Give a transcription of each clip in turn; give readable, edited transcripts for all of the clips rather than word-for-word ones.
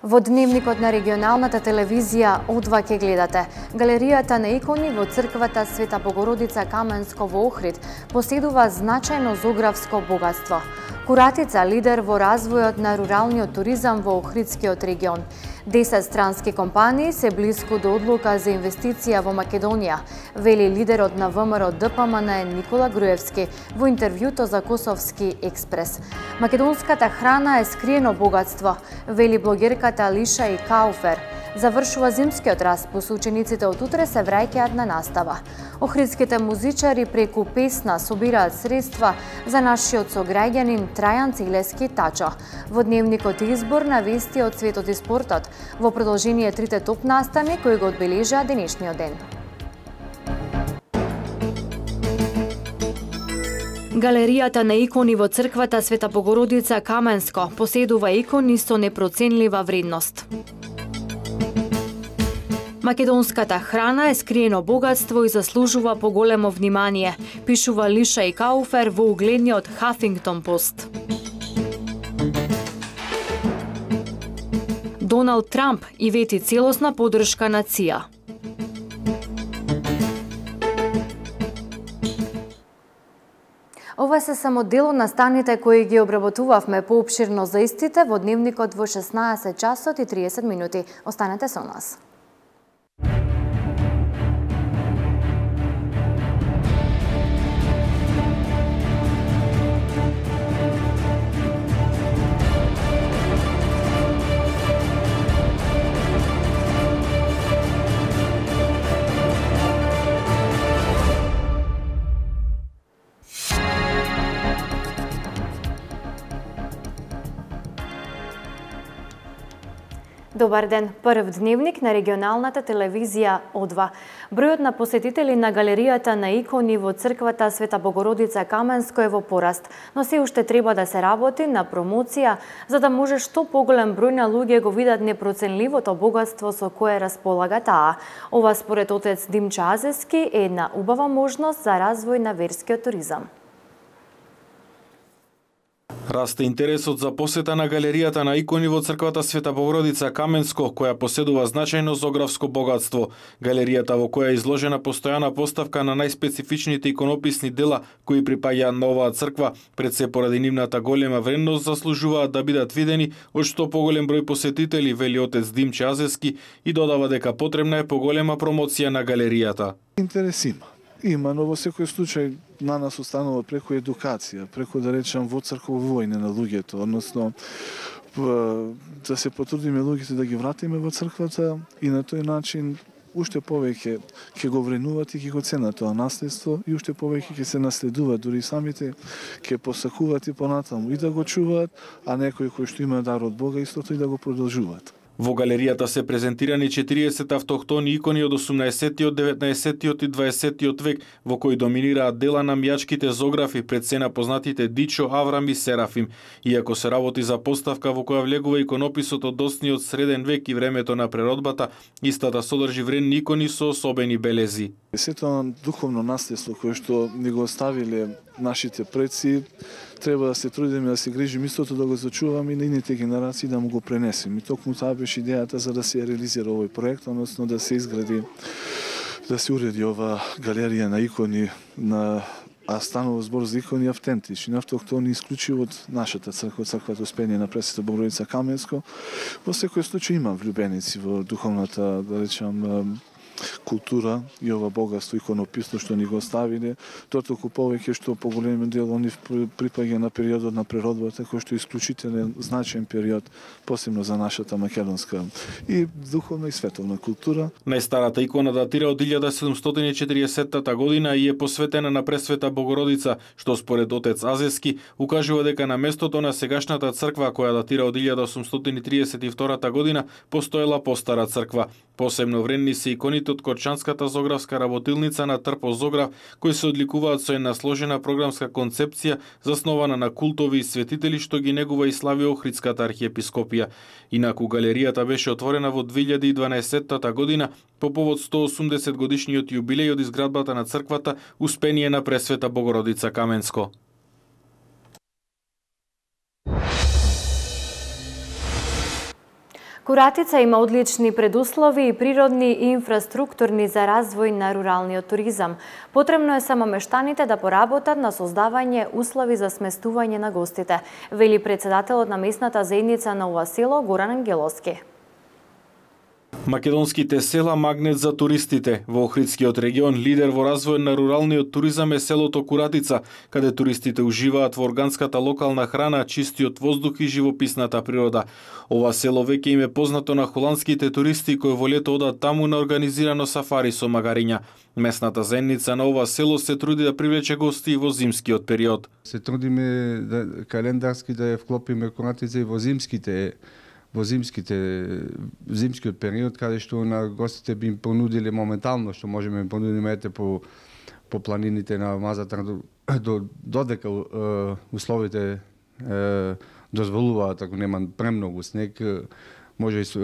Во дневникот на регионалната телевизија О2 ке гледате. Галеријата на икони во црквата Света Богородица Каменско во Охрид поседува значајно зографско богатство. Куратица лидер во развојот на руралниот туризам во Охридскиот регион. 10 странски компании се блиску до одлука за инвестиција во Македонија, вели лидерот на ВМРО ДПМН Никола Груевски во интервјуто за Косовски експрес. Македонската храна е скриено богатство, вели блогерката Лиша и Кауфер. Завршува зимскиот распус, учениците од утре се враќаат на настава. Охридските музичари преку песна собираат средства за нашиот сограѓанин Трајан Целески Тачо. Во дневникот избор на вести од светот и спортот, во продолжение трите топ настани кои го одбележаа денешниот ден. Галеријата на икони во црквата Света Богородица Каменско поседува икони со непроценлива вредност. Македонската храна е скриено богатство и заслужува поголемо внимание, пишува Лиша и Кауфер во угледниот Хафингтон Пост. Доналд Трамп и вети целосна поддршка на ЦИА. Ова се само дел од настаните кои ги обработувавме поопширно за истите во дневникот во 16 часот и 30 минути. Останете со нас. Добар ден, прв дневник на регионалната телевизија О2. Бројот на посетители на галеријата на икони во црквата Света Богородица Каменско е во пораст, но се уште треба да се работи на промоција за да може што поголем број на луѓе го видат непроценливото богатство со кое располага таа. Ова според отец Димчо Азески е една убава можност за развој на верскиот туризам. Расте интересот за посета на галеријата на икони во црквата Света Богородица Каменско, која поседува значајно зографско богатство. Галеријата во која е изложена постојана поставка на најспецифичните иконописни дела кои припаѓаат на оваа црква, пред се поради нивната голема вредност, заслужуваат да бидат видени од што поголем број посетители, вели отец Димчо Азески и додава дека потребна е поголема промоција на галеријата. Интерес има, но во секој случај на нас останува преку едукација, преку да речам во црковување на луѓето, односно да се потрудиме луѓето да ги вратиме во црквата и на тој начин уште повеќе ќе го вренуваат и ќе го ценат тоа наследство и уште повеќе ќе се наследуваат, дури самите ќе посакуваат и понатаму и да го чуваат, а некои кои што имаат дар од Бога истото и да го продолжуваат. Во галеријата се презентирани 40 автохтони икони од 18-тиот, 19-тиот и 20-тиот век, во кои доминираат дела на мјачките зографи, пред се на познатите Дичо, Аврам и Серафим. Иако се работи за поставка во која влегува иконописот од досниот среден век и времето на преродбата, истата содржи вредни икони со особени белези. Сето духовно наследство кое што ни го оставиле нашите предци, треба да се трудиме да се грижиме истото да го зачуваме и на ините генерации да му го пренесеме. И токму таа беше идејата за да се реализира овој проект, односно да се изгради, да се уреди ова галерија на икони, а станува збор за икони автентични, автохтони, исклучиво од нашата црква, црквата Успение на Пресвета Богородица Каменско. Во секој случај има влюбеници во духовната, да речам, култура и ова богатство иконописно што ни го оставиле, тоа толку повеќе што поголем дел они припаѓа на периодот на природбата, кој што е исклучителен значаен период, посебно за нашата македонска и духовна и световна култура. Најстарата икона датира од 1740 година и е посветена на Пресвета Богородица, што според отец Азески укажува дека на местото на сегашната црква која датира од 1832 година постоела постара црква. Посебно вредни се иконите од Корчанската зографска работилница на Трпо Зограф, кои се одликуваат со една сложена програмска концепција заснована на култови и светители што ги негува и слави Охридската архиепископија. Инаку галеријата беше отворена во 2012 година по повод 180 годишниот јубилеј од изградбата на црквата Успение на Пресвета Богородица Каменско. Куратица има одлични предуслови и природни и инфраструктурни за развој на руралниот туризам. Потребно е само мештаните да поработат на создавање услови за сместување на гостите, вели председателот на местната заедница на ова село Горан Ангеловски. Македонските села магнет за туристите. Во Охридскиот регион лидер во развој на руралниот туризам е селото Куратица, каде туристите уживаат во органската локална храна, чистиот воздух и живописната природа. Ова село веќе им е познато на холандските туристи кои во лето одат таму на организирано сафари со магариња. Местната заедница на ова село се труди да привлече гости во зимскиот период. Се трудиме да календарски да ја вклопиме Куратица и во зимскиот период, каде што на гостите би им понудиле моментално, што можеме им понудиме по планините на Мазатар додека условите дозволуваат, ако нема премногу снег, може и со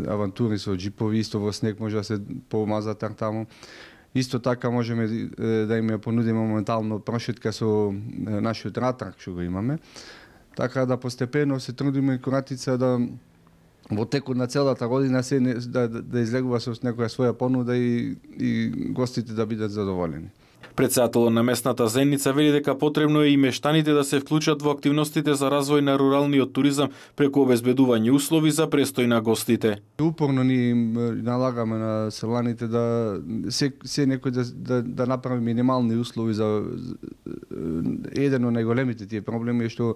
авантури со джипови, исто во снег може да се по Мазатар таму. Исто така можеме да им ја понудиме моментално прошетка со нашиот ратрак што го имаме. Така да постепено се трудиме Куратица да во текот на целата година да излегува со некоја своја понуда и гостите да бидат задоволени. Председателот на местната заедница вели дека потребно е и мештаните да се вклучат во активностите за развој на руралниот туризам преку обезбедување услови за престој на гостите. Упорно ни налагаме на селаните да се некој да направи минимални услови за еден од најголемите тие проблеми е што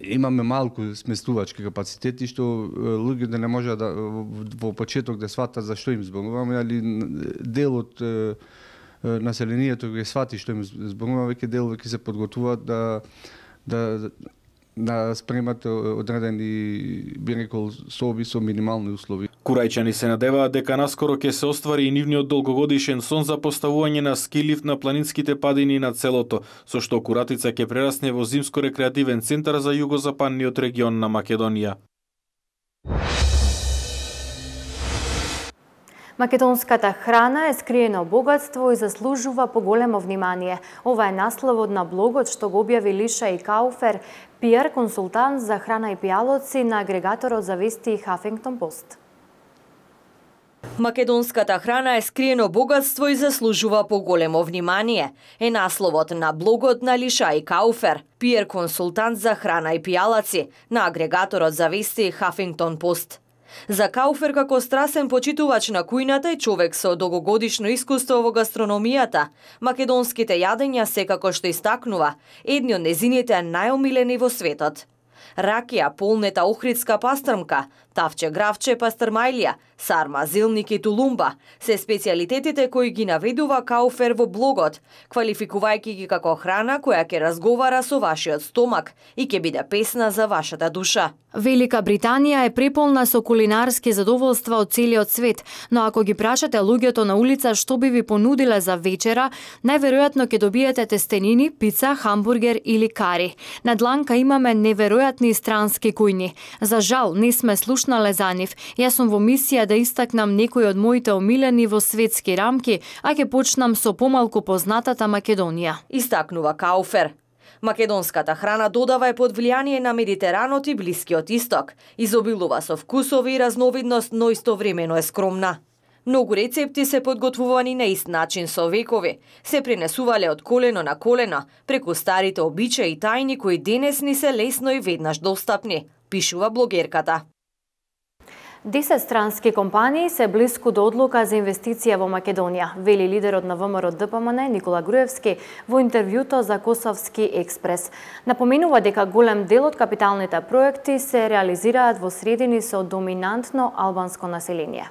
имаме малку сместувачки капацитети што луѓето не може да во почеток да сватат за што им зборуваме, али дел од населението го свати што им зборуваме, веќе дел веќе се подготвуваат да спремат одредени, би рекол, соби со минимални услови. Курајчани се надеваат дека наскоро ќе се оствари и нивниот долгогодишен сон за поставување на ски-лифт на планинските падини над селото, со што Куратица ќе прерасне во зимско-рекреативен центар за југозападниот регион на Македонија. Македонската храна е скриено богатство и заслужува поголемо внимание. Ова е насловот на блогот што го објави Лиша и Кауфер, PR консултант за храна и пијалоци на агрегаторот за вести Huffington Post. Македонската храна е скриено богатство и заслужува поголемо внимание. Е насловот на блогот на Лиша и Кауфер, PR консултант за храна и пијалаци на агрегаторот за вести Huffington Post. За Кауфер како страсен почитувач на кујната и човек со долгогодишно искуство во гастрономијата, македонските јадења секако што истакнува едни од незините најомилени во светот. Ракија, полнета охридска пастрмка, тавче гравче, пастрмајлија, сарма, зелник и тулумба се специјалитетите кои ги наведува Кауфер во блогот, квалификувајќи ги како храна која ќе разговара со вашиот стомак и ќе биде песна за вашата душа. Велика Британија е преполна со кулинарски задоволства од целиот свет, но ако ги прашате луѓето на улица што би ви понудиле за вечера, најверојатно ќе добиете тестенини, пица, хамбургер или кари. На дланка имаме неверојатни странски кујни. За жал, не сме слушнале за нив. Јас сум во мисија да истакнам некои од моите омилени во светски рамки, а ќе почнам со помалку познатата Македонија. Истакнува Кауфер. Македонската храна додава е под влијание на Медитеранот и Блискиот Исток. Изобилува со вкусови и разновидност, но истовремено е скромна. Многу рецепти се подготвувани на ист начин со векови. Се пренесувале од колено на колено, преку старите обичаи и тајни кои денес ни се лесно и веднаш достапни, пишува блогерката. 10 странски компании се блиску до одлука за инвестиција во Македонија, вели лидерот на ВМРО ДПМН Никола Груевски во интервјуто за Косовски експрес. Напоменува дека голем дел од капиталните проекти се реализираат во средини со доминантно албанско население.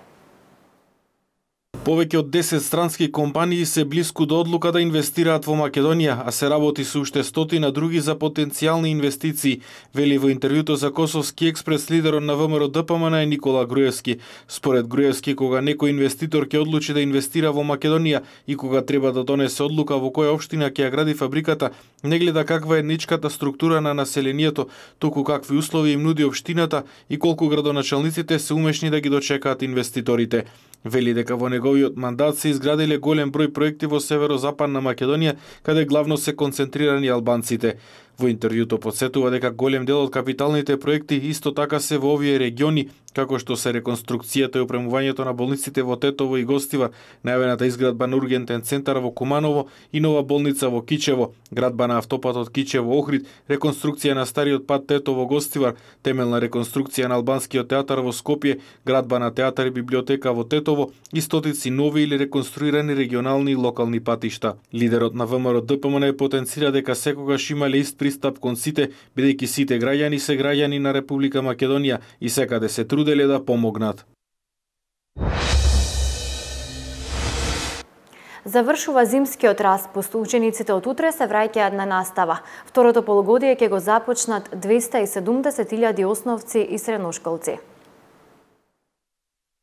Повеќе од 10 странски компании се блиску до одлука да инвестираат во Македонија, а се работи со уште стотина други за потенцијални инвестиции, вели во интервјуто за Косовски експрес лидерот на ВМРО ДПМН Никола Груевски. Според Груевски, кога некој инвеститор ќе одлучи да инвестира во Македонија и кога треба да донесе одлука во која општина ќе ја гради фабриката, не гледа каква е етничката структура на населението, туку какви услови им нуди општината и колку градоначалниците се умешни да ги дочекаат инвеститорите. Вели дека во неговиот мандат се изградиле голем број проекти во северозападна Македонија, каде главно се концентрирани албанците. Во интервјуто потсетува дека голем дел од капиталните проекти исто така се во овие региони, како што се реконструкцијата и опремувањето на болниците во Тетово и Гостивар, најавената изградба на ургентен центар во Куманово и нова болница во Кичево, градба на автопатот Кичево-Охрид, реконструкција на стариот пат Тетово-Гостивар, темелна реконструкција на албанскиот театар во Скопје, градба на театар и библиотека во Тетово и стотици нови или реконструирани регионални и локални патишта. Лидерот на ВМРО-ДПМН потенцира дека секогаш имале ист пристап кон сите, бидејќи сите граѓани се граѓани на Република Македонија и секаде се труделе да помогнат. Завршува зимскиот распуст. Учениците од утре се враќаат на настава. Второто полугодие ќе го започнат 270.000 основци и средношколци.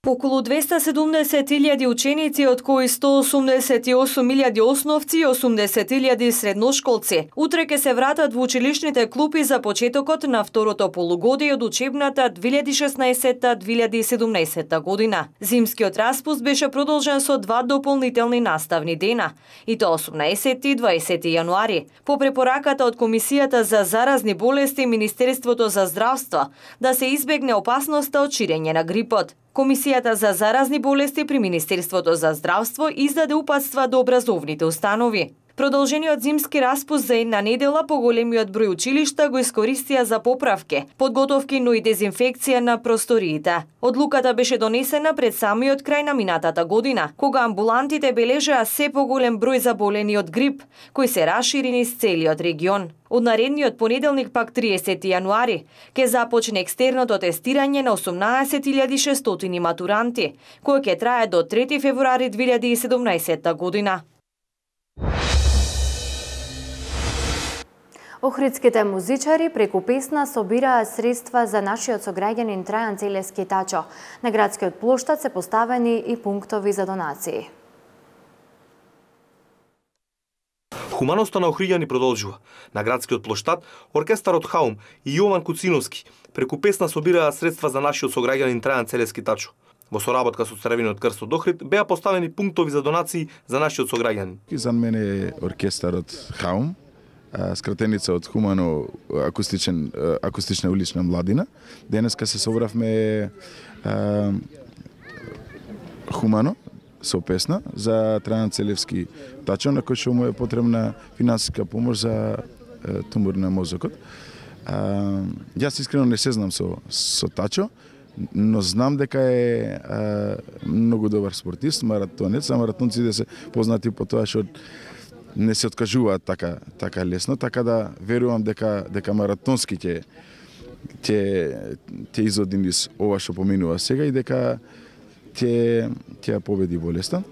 Околу 270.000 ученици, од кои 188.000 основци и 80.000 средношколци, утре ќе се вратат во училишните клупи за почетокот на второто полугодие од учебната 2016-2017 година. Зимскиот распуст беше продолжен со 2 дополнителни наставни дена, и тоа 18 и 20 јануари, по препораката од Комисијата за заразни болести и Министерството за здравство, да се избегне опасноста од ширење на грипот. Комисијата за заразни болести при Министерството за здравство издаде упатства до образовните установи. Продолжениот зимски распуст за една недела поголемиот број училишта го искористија за поправки, подготовки, но и дезинфекција на просториите. Одлуката беше донесена пред самиот крај на минатата година, кога амбулантите бележаа се поголем број заболени од грип, кои се расшири низ целиот регион. Од наредниот понеделник, пак 30 јануари, ќе започне екстерното тестирање на 18.600 матуранти, кој ќе трае до 3 февруари 2017 година. Охридските музичари преку песна собираат средства за нашиот сограѓанин Трајан Целевски Тачо. На градскиот плоштад се поставени и пунктови за донации. Хуманоста на охриѓани продолжува. На градскиот плоштад оркестарот Хаум и Јован Куциновски преку песна собираат средства за нашиот сограѓанин Трајан Целевски Тачо. Во соработка со Црвениот крст од Охрид беа поставени пунктови за донации за нашиот сограѓанин. За мене е оркестарот Хаум, скратеница од Хумано акустична улична младина. Денеска се собравме Хумано со песна за Трајан Целевски Тачо, на кој што му е потребна финансиска помош за тумор на мозокот. Јас искрено не се знам со Тачо, но знам дека е многу добар спортист, маратонец, а маратонците се познати по тоа што не се откажуваат така лесно, така да верувам дека маратонски ќе изоди низ ова што поминува сега и дека ќе ја победи болеста.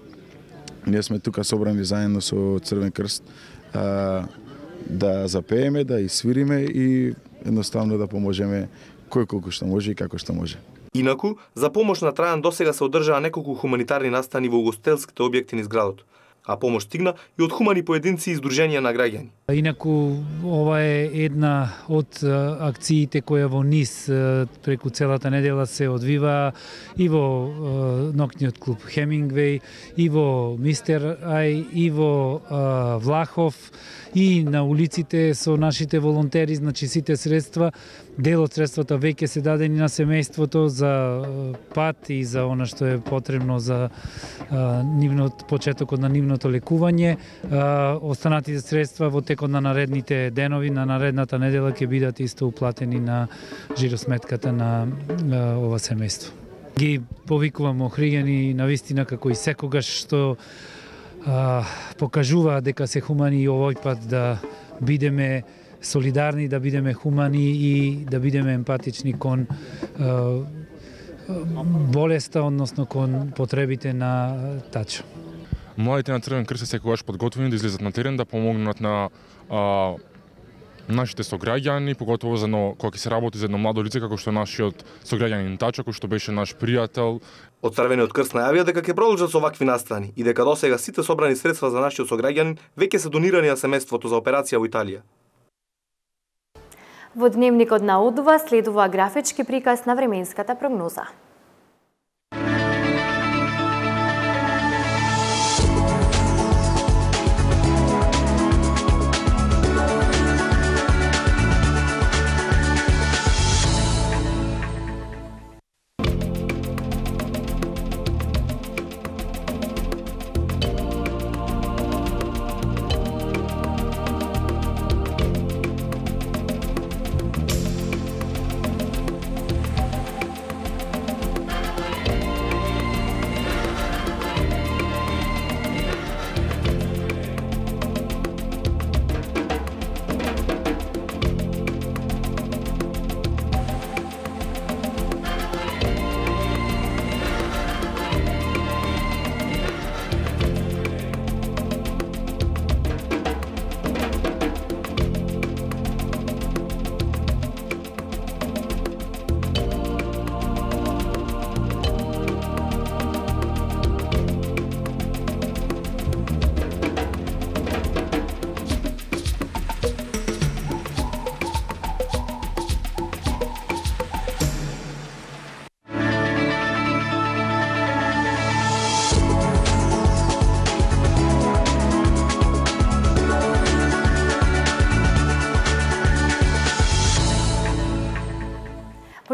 Ние сме тука собрани заедно со Црвен крст да запееме, да свириме и едноставно да поможеме кој колку што може и како што може. Инаку, за помош на Трајан досега се одржаа неколку хуманитарни настани во угостителските објекти низ градот, а помош стигна и од хумани поединци и издруженија на граѓани. Инаку, ова е една од акциите која во низ преку целата недела се одвива и во ноќниот клуб Хемингвеј, и во Мистер Ај, и во Влахов, и на улиците со нашите волонтери, значи сите средства, дел од средствата веќе се дадени на семејството за пат и за она што е потребно за почетокот на нивното лекување. Останатите средства во текот на наредните денови, на наредната недела ќе бидат исто уплатени на жиросметката на ова семејство. Ги повикувам охриѓани навистина како и секогаш што покажува дека се хумани и овој пат да бидеме солидарни, да бидеме хумани и да бидеме емпатични кон болеста, односно кон потребите на Тачо. Младите на Црвен крст се секогаш подготвени да излезат на терен, да помогнат на нашите сограѓани, поготово за кога ќе се работи за едно младо лице како што нашиот сограѓанин Тачо, кој што беше наш пријател. Од Црвениот крст најавија дека ќе продолжат со вакви настани и дека досега сите собрани средства за нашиот сограѓанин веќе се донирани на семејството за операција во Италија. Во дневникот на ОДВА следува графички приказ на временската прогноза.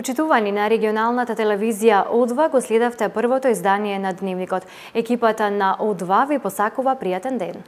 Почитувани на регионалната телевизија О2 го следавте првото издание на Дневникот. Екипата на О2 ви посакува пријатен ден.